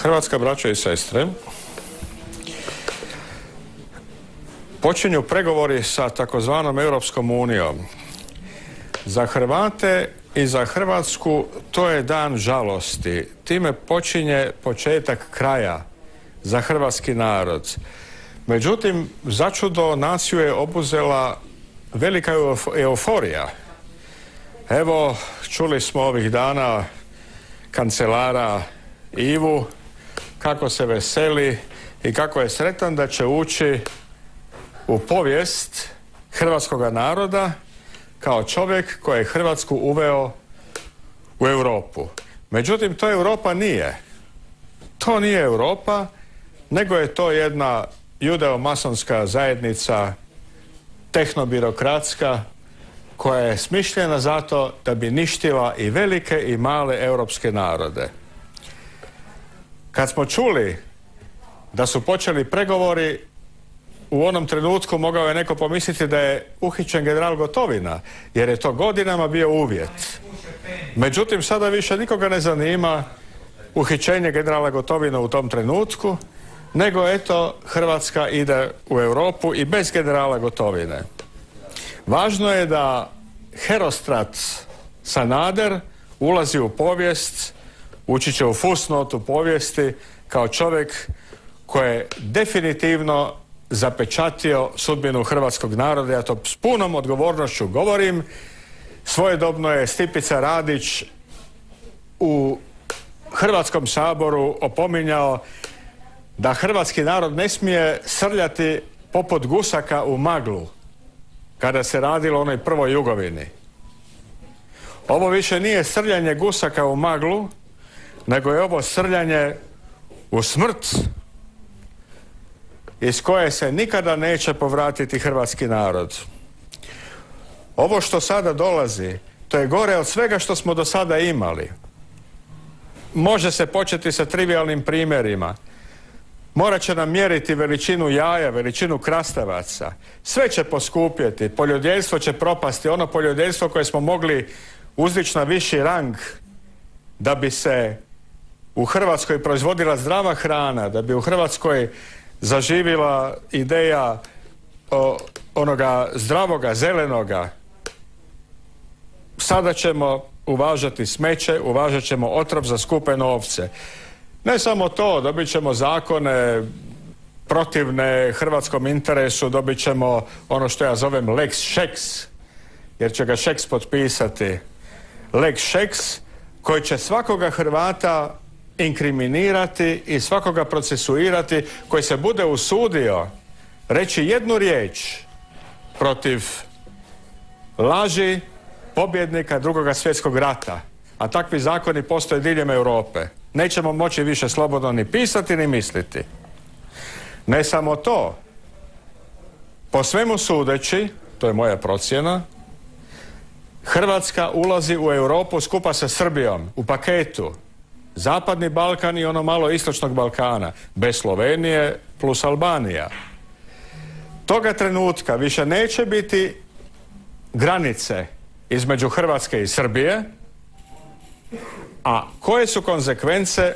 Hrvatska, braćo i sestre, počinju pregovori sa takozvanom Europskom unijom. Za Hrvate i za Hrvatsku to je dan žalosti. Time počinje početak kraja za hrvatski narod. Međutim, začudo naciju je obuzela velika euforija. Evo, čuli smo ovih dana kancelara Ivu kako se veseli i kako je sretan da će ući u povijest hrvatskoga naroda kao čovjek koji je Hrvatsku uveo u Europu. Međutim, to Europa nije. To nije Europa, nego je to jedna judeo-masonska zajednica, tehnobirokratska, koja je smišljena zato da bi ništila i velike i male europske narode. Kad smo čuli da su počeli pregovori, u onom trenutku mogao je neko pomisliti da je uhićen general Gotovina, jer je to godinama bio uvjet. Međutim, sada više nikoga ne zanima uhićenje generala Gotovina u tom trenutku, nego eto, Hrvatska ide u Europu i bez generala Gotovine. Važno je da Herostrat Sanader ulazi u povijest, ući će u fusnotu povijesti kao čovjek koji je definitivno zapečatio sudbinu hrvatskog naroda. Ja to s punom odgovornošću govorim. Svojedobno je Stipica Radić u Hrvatskom saboru opominjao da hrvatski narod ne smije srljati poput gusaka u maglu kada se radilo o onoj prvoj Jugovini. Ovo više nije srljanje gusaka u maglu, nego je ovo srljanje u smrt iz koje se nikada neće povratiti hrvatski narod. Ovo što sada dolazi, to je gore od svega što smo do sada imali. Može se početi sa trivialnim primjerima. Morat će nam mjeriti veličinu jaja, veličinu krastavaca. Sve će poskupjeti, poljodjeljstvo će propasti. Ono poljodjeljstvo koje smo mogli uzdići na viši rang da bi se u Hrvatskoj proizvodila zdrava hrana, da bi u Hrvatskoj zaživila ideja onoga zdravoga, zelenoga. Sada ćemo uvažati smeće, uvažat ćemo otrov za skupe novce. Ne samo to, dobit ćemo zakone protivne hrvatskom interesu, dobit ćemo ono što ja zovem Lex Šeks, jer će ga Šeks potpisati. Lex Šeks koji će svakoga Hrvata inkriminirati i svakoga procesuirati koji se bude usudio reći jednu riječ protiv laži pobjednika Drugoga svjetskog rata. A takvi zakoni postoje diljem Europe. Nećemo moći više slobodno ni pisati ni misliti. Ne samo to. Po svemu sudeći, to je moja procjena, Hrvatska ulazi u Europu skupa sa Srbijom u paketu. Zapadni Balkan i ono malo istočnog Balkana, bez Slovenije plus Albanija. Toga trenutka više neće biti granice između Hrvatske i Srbije, a koje su konzekvence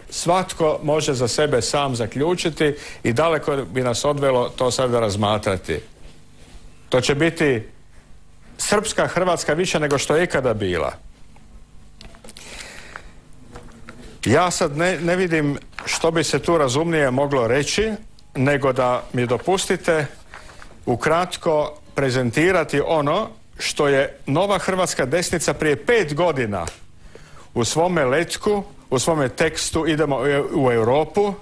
svatko može za sebe sam zaključiti i daleko bi nas odvelo to sada razmatrati. To će biti srpska Hrvatska više nego što je ikada bila. Ja sad ne vidim što bi se tu razumnije moglo reći, nego da mi dopustite ukratko prezentirati ono što je nova hrvatska desnica prije 5 godina u svome letku, u svome tekstu Idemo u Europu,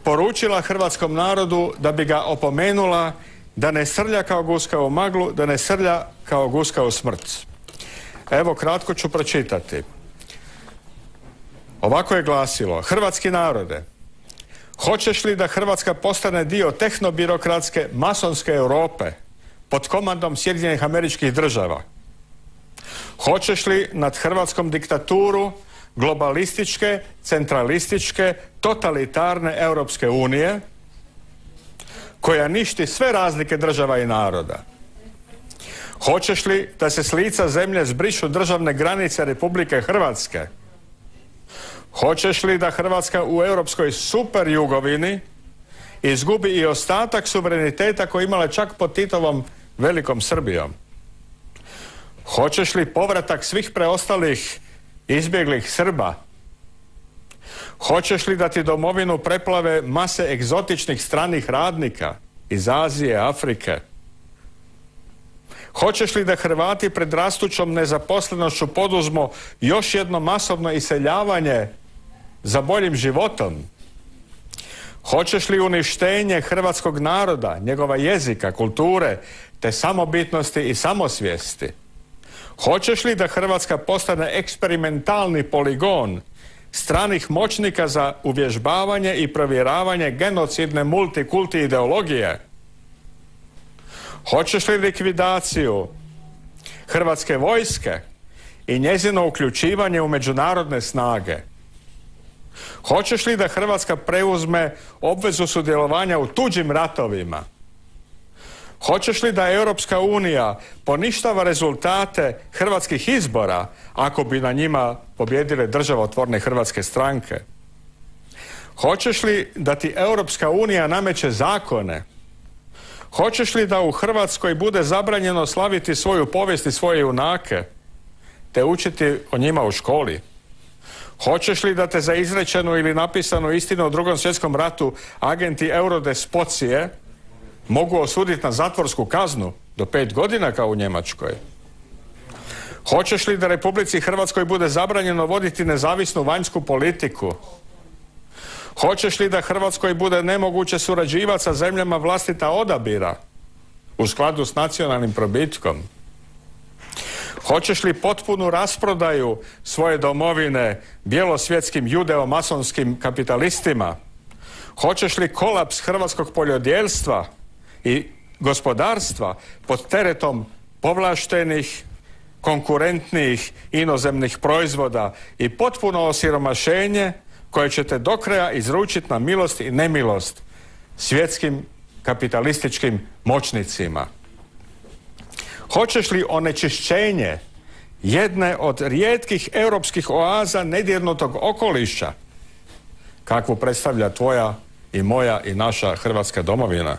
poručila hrvatskom narodu da bi ga opomenula da ne srlja kao guska u maglu, da ne srlja kao guska u smrt. Evo, kratko ću pročitati. Ovako je glasilo: hrvatski narode, hoćeš li da Hrvatska postane dio tehnobirokratske masonske Europe pod komandom Sjedinjenih Američkih Država? Hoćeš li nad Hrvatskom diktaturu globalističke, centralističke, totalitarne Europske unije koja ništi sve razlike država i naroda? Hoćeš li da se s lica zemlje zbrišu državne granice Republike Hrvatske? Hoćeš li da Hrvatska u europskoj super jugovini izgubi i ostatak suvereniteta koji imala čak pod Titovom velikom Srbijom? Hoćeš li povratak svih preostalih izbjeglih Srba? Hoćeš li da ti domovinu preplave mase egzotičnih stranih radnika iz Azije, Afrike? Hoćeš li da Hrvati pred rastućom nezaposlenošću poduzmu još jedno masovno iseljavanje za boljim životom? Hoćeš li uništenje hrvatskog naroda, njegova jezika, kulture, te samobitnosti i samosvijesti? Hoćeš li da Hrvatska postane eksperimentalni poligon stranih moćnika za uvježbavanje i provjeravanje genocidne multikulti ideologije? Hoćeš li likvidaciju Hrvatske vojske i njezino uključivanje u međunarodne snage? Hoćeš li da Hrvatska preuzme obvezu sudjelovanja u tuđim ratovima? Hoćeš li da Europska unija poništava rezultate hrvatskih izbora ako bi na njima pobijedile državotvorne hrvatske stranke? Hoćeš li da ti Europska unija nameće zakone? Hoćeš li da u Hrvatskoj bude zabranjeno slaviti svoju povijest i svoje junake, te učiti o njima u školi? Hoćeš li da te za izrečenu ili napisanu istinu o Drugom svjetskom ratu agenti eurodespocije mogu osuditi na zatvorsku kaznu do 5 godina kao u Njemačkoj? Hoćeš li da Republici Hrvatskoj bude zabranjeno voditi nezavisnu vanjsku politiku? Hoćeš li da Hrvatskoj bude nemoguće surađivati sa zemljama vlastita odabira u skladu s nacionalnim probitkom? Hoćeš li potpunu rasprodaju svoje domovine bijelosvjetskim judeo-masonskim kapitalistima? Hoćeš li kolaps hrvatskog poljodjelstva i gospodarstva pod teretom povlaštenih, konkurentnih inozemnih proizvoda i potpuno osiromašenje koje ćete do kraja izručiti na milost i nemilost svjetskim kapitalističkim moćnicima? Hoćeš li onečišćenje jedne od rijetkih europskih oaza nedirnutog okoliša, kakvu predstavlja tvoja i moja i naša Hrvatska domovina?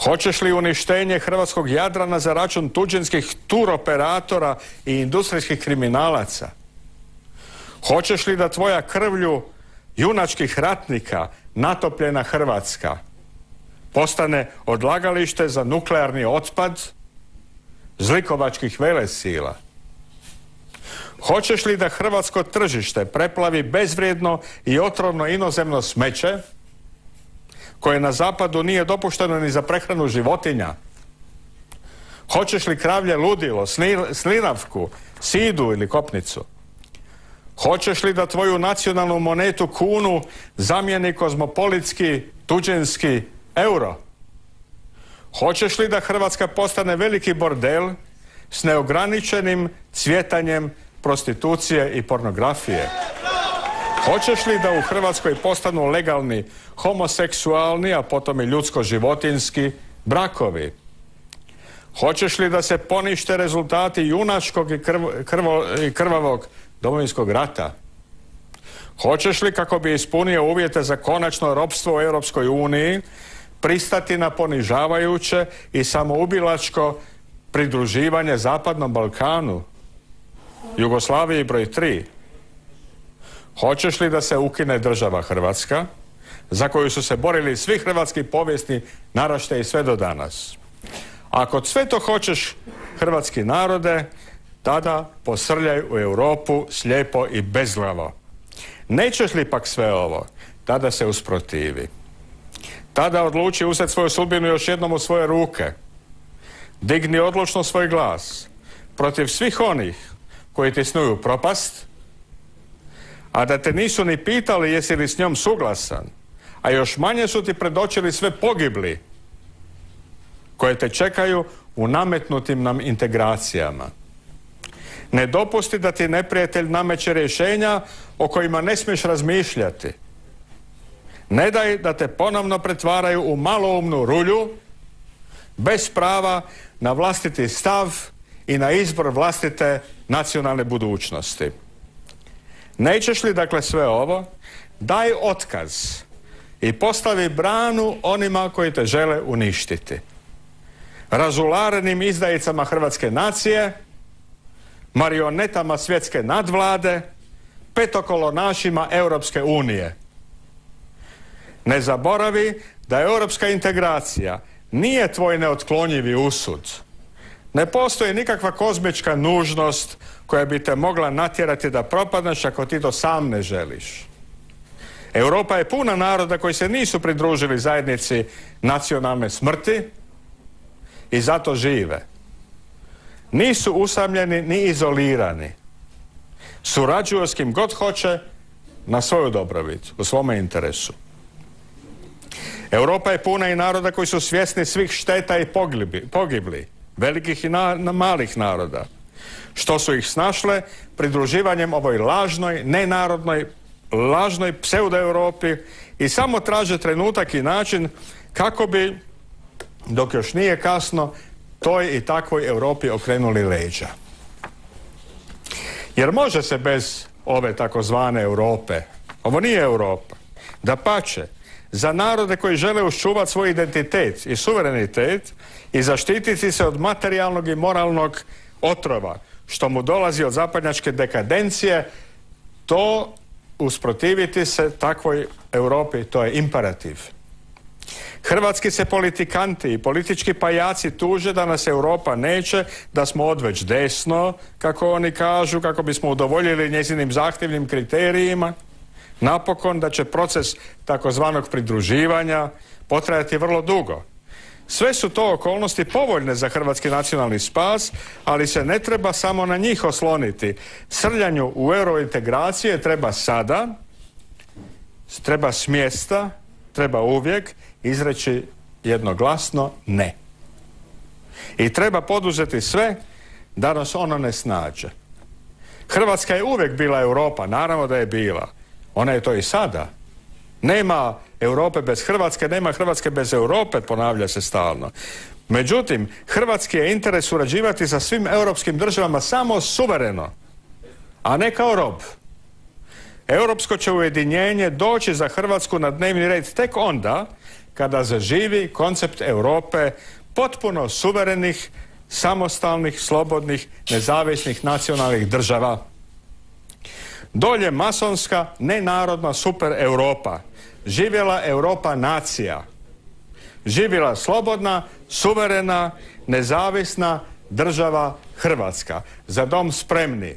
Hoćeš li uništenje hrvatskog Jadrana za račun tuđinskih turoperatora i industrijskih kriminalaca? Hoćeš li da tvoja krvlju junačkih ratnika natopljena Hrvatska postane odlagalište za nuklearni otpad zlikovačkih velesila? Hoćeš li da hrvatsko tržište preplavi bezvrijedno i otrovno inozemno smeće koje na zapadu nije dopušteno ni za prehranu životinja? Hoćeš li kravlje ludilo, slinavku, sidu ili kopnicu? Hoćeš li da tvoju nacionalnu monetu kunu zamijeni kozmopolitski, tuđinski euro? Hoćeš li da Hrvatska postane veliki bordel s neograničenim cvjetanjem prostitucije i pornografije? Hoćeš li da u Hrvatskoj postanu legalni homoseksualni, a potom i ljudsko-životinski brakovi? Hoćeš li da se ponište rezultati junačkog i krvavog Domovinskog rata? Hoćeš li, kako bi ispunio uvjete za konačno ropstvo u Europskoj uniji, pristati na ponižavajuće i samoubilačko pridruživanje Zapadnom Balkanu, Jugoslaviji broj 3? Hoćeš li da se ukine država Hrvatska, za koju su se borili svi hrvatski povijesni naraštaji sve do danas? Ako sve to hoćeš, hrvatski narode, tada posrljaj u Europu slijepo i bezglavo. Nećeš li pak sve ovo, tada se usprotivi. Tada odluči uzeti svoju sudbinu još jednom u svoje ruke. Digni odlučno svoj glas protiv svih onih koji ti snuju propast, a da te nisu ni pitali jesi li s njom suglasan, a još manje su ti predočili sve pogibli koje te čekaju u nametnutim nam integracijama. Ne dopusti da ti neprijatelj nameće rješenja o kojima ne smiješ razmišljati. Ne daj da te ponovno pretvaraju u maloumnu rulju bez prava na vlastiti stav i na izbor vlastite nacionalne budućnosti. Nećeš li dakle sve ovo, daj otkaz i postavi branu onima koji te žele uništiti. Razularenim izdajicama hrvatske nacije, marionetama svjetske nadvlade, petokolonašima Europske unije. Ne zaboravi da europska integracija nije tvoj neotklonjivi usud. Ne postoji nikakva kozmička nužnost koja bi te mogla natjerati da propadneš ako ti to sam ne želiš. Europa je puna naroda koji se nisu pridružili zajednici nacionalne smrti i zato žive. Nisu usamljeni ni izolirani. Surađuju s kim god hoće na svoju dobrobit, u svome interesu. Europa je puna i naroda koji su svjesni svih šteta i pogibli, velikih i malih naroda, što su ih snašle pridruživanjem ovoj lažnoj, nenarodnoj, lažnoj pseudo-Europi i samo traže trenutak i način kako bi, dok još nije kasno, toj i takvoj Europi okrenuli leđa. Jer može se bez ove takozvane Europe, ovo nije Europa, dapače, za narode koji žele uščuvati svoj identitet i suverenitet i zaštititi se od materijalnog i moralnog otrova, što mu dolazi od zapadnjačke dekadencije, to usprotiviti se takvoj Europi, to je imperativ. Hrvatski se politikanti i politički pajaci tuže da nas Europa neće, da smo odveć desno, kako oni kažu, kako bismo udovoljili njezinim zahtjevnim kriterijima. Napokon da će proces takozvanog pridruživanja potrajati vrlo dugo. Sve su to okolnosti povoljne za hrvatski nacionalni spas, ali se ne treba samo na njih osloniti. Srljanju u eurointegracije treba sada, treba s mjesta, treba uvijek izreći jednoglasno ne. I treba poduzeti sve da nas ono ne snađe. Hrvatska je uvijek bila Europa, naravno da je bila. Ona je to i sada. Nema Europe bez Hrvatske, nema Hrvatske bez Europe, ponavlja se stalno. Međutim, hrvatski je interes surađivati sa svim europskim državama samo suvereno, a ne kao rob. Europsko će ujedinjenje doći za Hrvatsku na dnevni red tek onda kada zaživi koncept Europe potpuno suverenih, samostalnih, slobodnih, nezavisnih nacionalnih država. Dolje masonska, nenarodna super Europa. Živjela Europa nacija. Živjela slobodna, suverena, nezavisna država Hrvatska. Za dom spremni.